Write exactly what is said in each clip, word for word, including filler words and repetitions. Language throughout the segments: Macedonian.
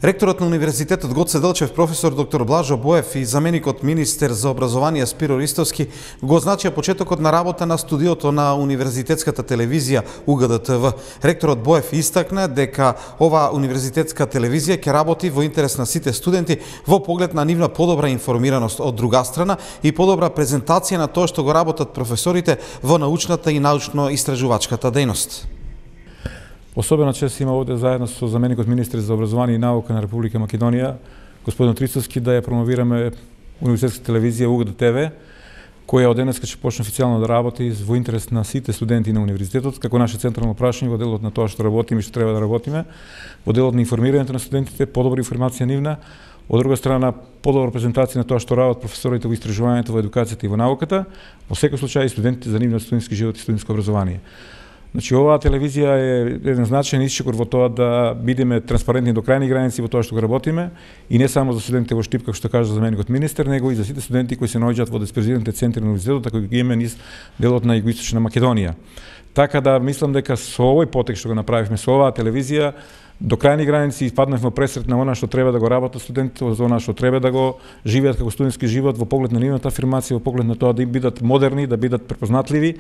Ректорот на Универзитетот Гоце Делчев, професор доктор Блажо Боев и заменикот министер за образование Спиро Ристовски го означија почетокот на работа на студиото на Универзитетската телевизија У Г Д Т В. Ректорот Боев истакна дека оваа универзитетска телевизија ќе работи во интерес на сите студенти во поглед на нивна подобра информираност од друга страна и подобра презентација на тоа што го работат професорите во научната и научно-истражувачката дејност. Особено чест има овде заедно со заменикот министер за образование и наука на Република Македонија, господин Ристовски, да ја промовираме универзитетска телевизија У Г Д Т В, која од денеска ќе почне официјално да работи во интерес на сите студенти на универзитетот, како наше централно прашање во делот на тоа што работиме и што треба да работиме, во делот на информирањето на студентите, подобра информација нивна, од друга страна подобра презентација на тоа што работат професорите во истражувањето, во едукацијата и во науката, во секој случај и студентите за нивниот студентски живот и студентско образование. Значи, оваа телевизија е еден значаен исчекор во тоа да бидеме транспарентни до крајни граници во тоа што го работиме и не само за студентите во Штип, како што кажа заменикот министер, него и за сите студенти кои се наоѓаат во дисперзираните центри на универзитетот, како ги имаме низ делот на југоисточна Македонија. Така да мислам дека со овој потек што го направивме со оваа телевизија до крајни граници испаднавме во пресрет на она што треба да го работат студентите, за она што треба да го живеат како студентски живот во поглед на нивната афирмација, во поглед на тоа да бидат модерни, да бидат препознатливи.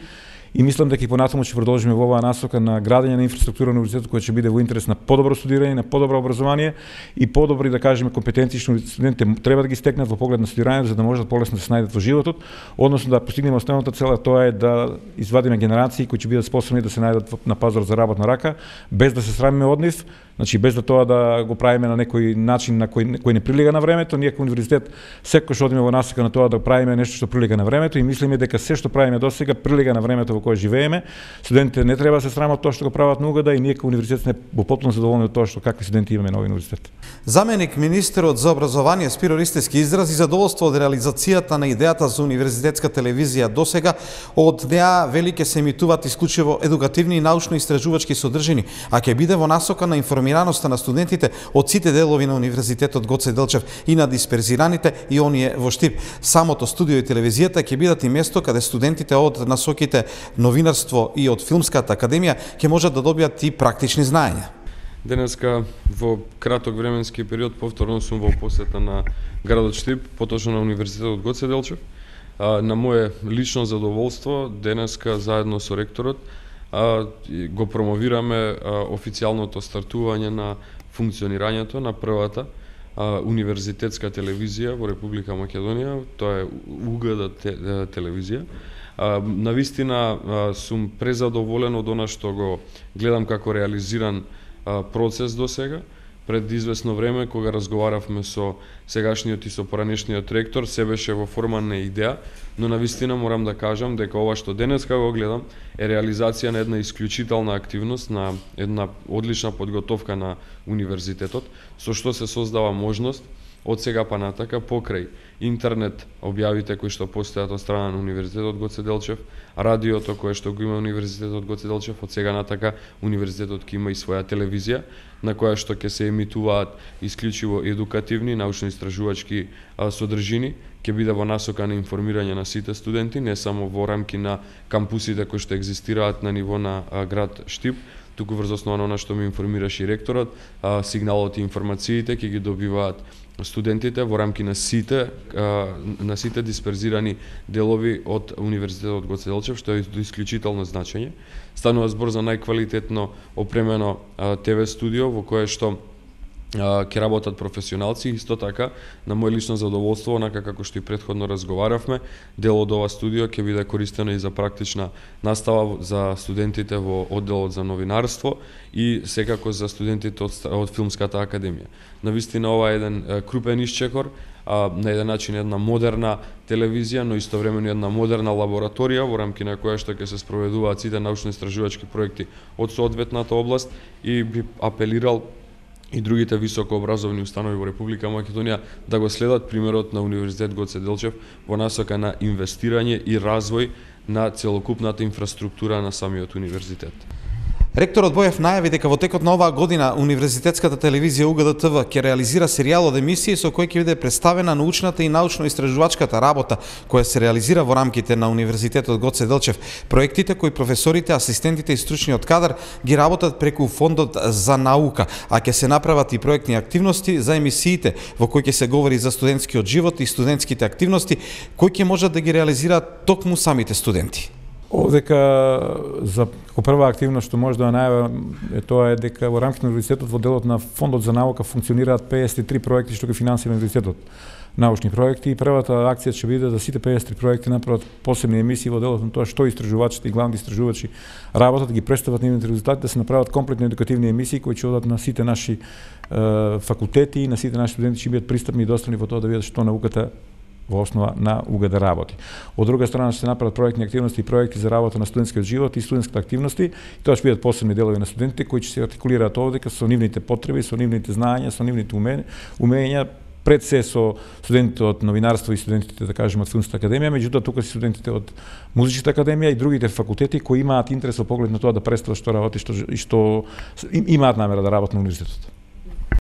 И мислам дека и понатаму ќе продолжиме во оваа насока на градење на инфраструктура на универзитетот која ќе биде во интерес на подобро студирање, на подобро образование и подобри, да кажеме, компетенции што студентите треба да ги стекнат во поглед на студирањето за да можат полесно да се најдат во животот, односно да постигнеме основната цел, тоа е да извадиме генерации кои ќе бидат способни да се најдат на пазар за работна рака, без да се срамиме од нив, значи без да тоа да го правиме на некој начин на кој кој не прилига на времето. Ние како универзитет секогаш одиме во насока на тоа да правиме нешто што прилига на времето и мислиме дека се што правиме досега прилига на времето во кое живееме. Студентите не треба да се срамат тоа што го прават на У Г Д и ние како универзитет сме во потполно задоволни од тоа што какви студенти имаме на овој универзитет. Заменик министерот за образование Спиро Ристовски изрази задоволство од реализацијата на идејата за универзитетска телевизија досега. Од неа вели ќе се емитуваат исклучиво едукативни и научно-истражувачки содржини, а ќе биде во насока на информираноста на студентите од сите делови на Универзитетот Гоце Делчев и на дисперзираните и оние во Штип. Самото студио и телевизијата ќе бидат и место каде студентите од насоките новинарство и од Филмската академија ќе можат да добијат и практични знаења. Денеска во краток временски период повторно сум во посета на градот Штип, поточно на Универзитетот Гоце Делчев. На моје лично задоволство денеска заедно со ректорот го промовираме официјалното стартување на функционирањето на првата универзитетска телевизија во Република Македонија, тоа е У Г Д телевизија. Навистина сум презадоволен од она што го гледам како реализиран процес до сега. Пред известно време, кога разговаравме со сегашниот и со поранешниот ректор, се беше во форма на идеја, но навистина морам да кажам дека ова што денеска го гледам е реализација на една исклучителна активност, на една одлична подготовка на универзитетот, со што се создава можност од сега па натака покрај интернет објавите кои што постојат од страна на Универзитетот Гоце Делчев, радиото кое што го има Универзитетот Гоце Делчев, од сега натака Универзитетот ќе има и своја телевизија на која што ќе се емитуваат исклучиво едукативни, научно-истражувачки содржини, ќе биде во насока на информирање на сите студенти, не само во рамки на кампусите кои што екзистираат на ниво на град Штип, туку врз основа на она што ми информираше и ректорот, сигналот и информациите ќе ги добиваат студентите во рамки на сите на сите дисперзирани делови од Универзитетот Гоце Делчев, што е до исклучително значење. Станува збор за најквалитетно опремено Т В студио во кое што ќе работат професионалци. Исто така, на мој лично задоволство, онака како што и претходно разговаравме, дел од ова студио ќе биде користено и за практична настава за студентите во одделот за новинарство и секако за студентите од, од Филмската академија. Навистина ова е еден крупен исчекор, на еден начин една модерна телевизија, но истовремено една модерна лабораторија во рамки на која што ќе се спроведуваат сите научно-истражувачки проекти од соодветната област и би апелирал и другите високообразовни установи во Република Македонија да го следат примерот на Универзитет Гоце Делчев во насока на инвестирање и развој на целокупната инфраструктура на самиот универзитет. Ректорот Боев најави дека во текот на оваа година Универзитетската телевизија У Г Д Т В ќе реализира серијал од емисии со кој ќе биде представена научната и научно-истражувачката работа која се реализира во рамките на Универзитетот Гоце Делчев. Проектите кои професорите, асистентите и стручниот кадар ги работат преку Фондот за наука, а ќе се направат и проектни активности за емисиите во кои ќе се говори за студентскиот живот и студентските активности кои ќе можат да ги реализираат токму самите студенти. Овдека за како прва активност што може да најавам е тоа е дека во рамките на универзитетот во делот на Фондот за наука функционираат педесет и три проекти што ги финансира универзитетот. Научни проекти и првата акција ќе биде да сите педесет и три проекти направат посебни емисии во делот на тоа што истражувачите и главните истражувачи работат, да ги представат нивните резултати, да се направат комплетни едукативни емисии кои ќе одат на сите наши е, факултети и на сите наши студенти ќе бидат пристапни и достапни во тоа да видат што науката во основа на У Г Д работи. Од друга страна ќе се направат проектни активности и проекти за работа на студентскиот живот и студентските активности, и тоа ќе бидат посебни делови на студентите кои ќе се артикулираат овдека со нивните потреби, со нивните знаења, со нивните умења, пред се со студентите од новинарство и студентите, да кажеме, од филмската академија, меѓутоа тука се студентите од музичката академија и другите факултети кои имаат интерес во поглед на тоа да представат што работи, што и што имаат намера да работат на универзитетот.